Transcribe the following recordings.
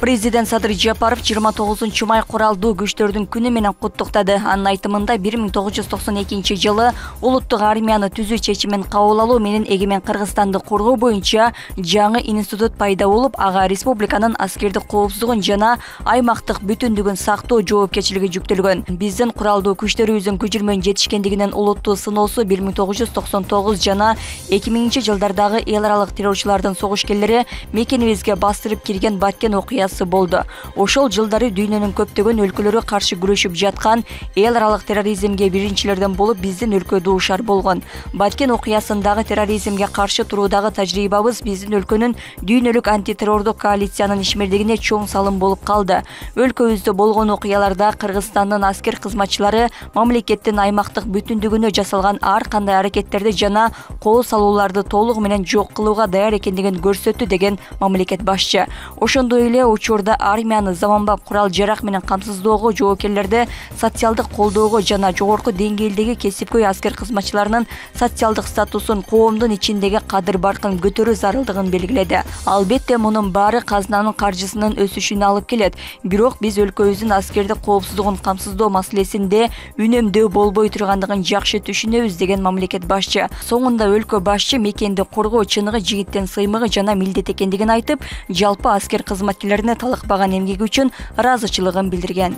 Президент Садыр Жапаров 29 май куралдуу күчтөрдүн күнү менен куттуктады. Анын айтымында 1992 жылы улуттук армияны түзүү чечимин кабыл алуу менен эгемен Кыргызстанды коргоо боюнча жаңы институт пайда болуп, ага республиканын аскердик коопсуздугун жана аймактык бүтүндүгүн сактоо жоопкерчилиги жүктөлгөн. Биздин куралдуу күчтөрүбүздүн күчүрмөн жетишкендигинен улуттуу сыноосу 1999 жана 2000 жылдардагы эл аралык террорчулардын согушкерлери мекенибизге бастырып кирген Баткен окуясы болду. Ошол жылдары дүйнөнүн көптөгөн өлкөлөрү каршы күрөшүп жаткан эл аралык терроризмге биринчилерден болуп биздин өлкө дуушар болгон. Баткен окуясындагы терроризмге каршы туруудагы тажрыйбабыз биздин өлкөнүн дүйнөлүк антитеррордук коалициянын ишмердигине чоң салым болуп калды. Өлкөбүздө болгон окуяларда Кыргызстандын аскер кызматчылары мамлекеттин аймактык бүтүндүгүнө жасалган ар кандай аракеттерди жана кол салууларды толугу менен жок кылууга даяр экендигин көрсөттү деген мамлекет башчы. Ошондой эле учурда армияны заманбап курал-жарак менен камсыздоого, жоопкерлерди социалдык колдоого жана жогорку деңгээлдеги кесипкөй аскер кызматчыларынын социалдык статусун коомдун ичиндеги кадыр-баркын көтөрүү зарылдыгын белгиледи. Албетте мунун баары казынанын каржысынын өсүшүнө алып келет. Бирок биз өлкөбүздүн аскердик коопсуздугун камсыздоо маселесинде үнөмдөө болбой тургандыгын жакшы түшүнөбүз деген мамлекет башчы. Соңунда өлкө башчы мекенди коргоо чыныгы жигиттин сыймыгы жана милдет экендигин айтып, жалпы аскер кызматкерлерине талыкпаган эмгеги үчүн ыраазычылыгын билдирген.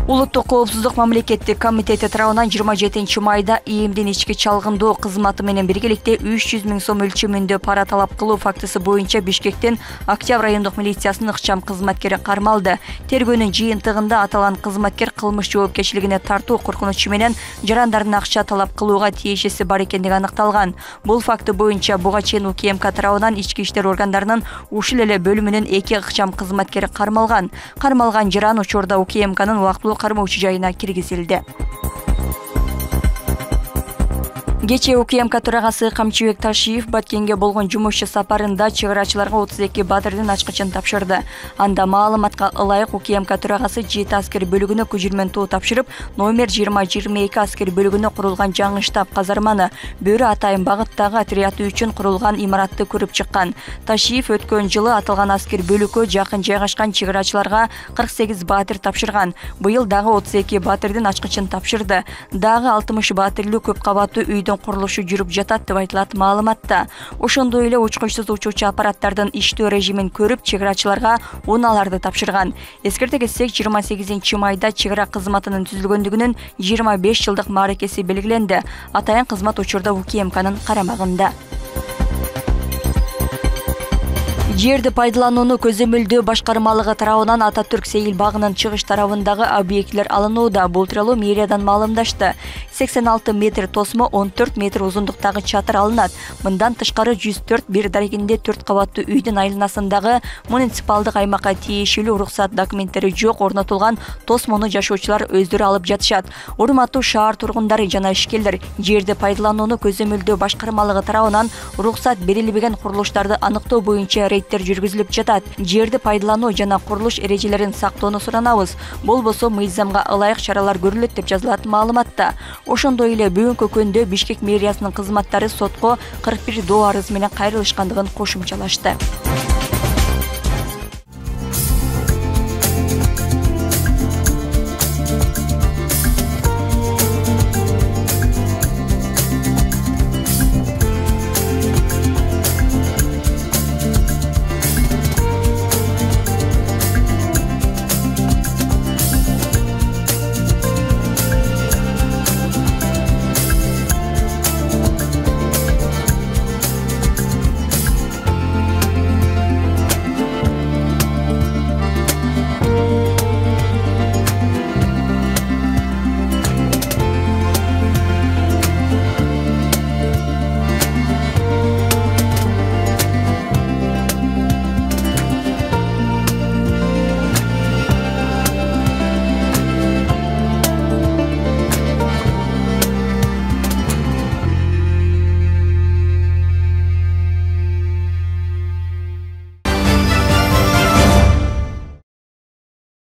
Улуттук коопсуздук мамлекеттик комитети тарабынан 27 майда ИИМдин ички чалгындоо кызматы менен биргеликте 300 000 сом өлчөмүндө пара талап кылуу фактысы боюнча Бишкектин Октябрь райондук милициясынын ыкчам кызматкери кармалды. Тергөөнүн жыйынтыгында аталган кызматкер кылмыш жоопкерчилигине тартуу коркунучу менен жарандардын акча талап кылууга тиешеси бар экендиги аныкталган. Бул факты боюнча буга чейин УКМК тарабынан ички иштер органдарынын ушул эле бөлүмүнүн 2 ыкчам кызматкери кармалган. Кармалган жаран учурда УКМКнын убактылуу кармоочу жайына киргизилди. Кечээ УКМК төрагасы Камчыбек Ташиев Баткенге болгон жумушчу сапарында чыгарачыларга 32 батырдын ачкычын тапшырды. Анда маалыматка ылайык УКМК төрагасы 7 аскер бөлүгүнө көчүрмөн тоо тапшырып, номер 2022 аскер бөлүгүнө курулган жаңы штаб казарманы, Бөрү Атайын багыттагы отряды үчүн курулган имаратты көрүп чыккан. Ташиев өткөн жылы аталган аскер бөлүккө жакын жайгашкан чыгарачыларга 48 батыр тапшырган. Быйыл дагы 32 батырдын ачкычын тапшырды. Дагы 60 батырлуу көп кабаттуу үйдүн курулушу жүрүп жатат деп айтылат маалыматта. Ошондой эле учкучсуз учуучу аппараттардын иштөө режимин көрүп, чыгарачыларга унааларды тапшырган. Эскерте кетсек, 28 майда чыгара кызматынын түзүлгөндүгүнүн 25 жылдык мааракеси белгиленди. Атайын кызмат учурда УКМКнын карамагында. Жерди пайдаланууну көзөмөлдөө башкармалыгы тарабынан Ататүрк Сейил багынын чыгыш тарабындагы объектлер алынууда. Бул тууралуу мэриядан маалымдашты. 86 метр тосмо, 14 метр узундуктагы чатыр алынат. Мындан тышкары 104 бир дарегинде 4 кабаттуу үйдүн айланасындагы муниципалдык аймакка тиешелүү уруксат документтери жок орнотулган тосмону жашоочулар өздөрү алып жатышат. Урматтуу шаар тургундары жана ишкерлер, жерди пайдаланууну көзөмөлдөө башкармалыгы тарабынан уруксат берилбеген курулуштарды аныктоо боюнча жүргүзүлүп жатат. Жерди пайдалануу жана курулуш эрежелерин сактоону суранабыз. Болбосо мыйзамга ылайык чаралар көрүлөт деп жазылат маалыматта. Ошондой эле бүгүнкү күндө Бишкек мэриясынын кызматтары сотко 41 доо арыз менен кайрылышкандыгын кошумчалашты.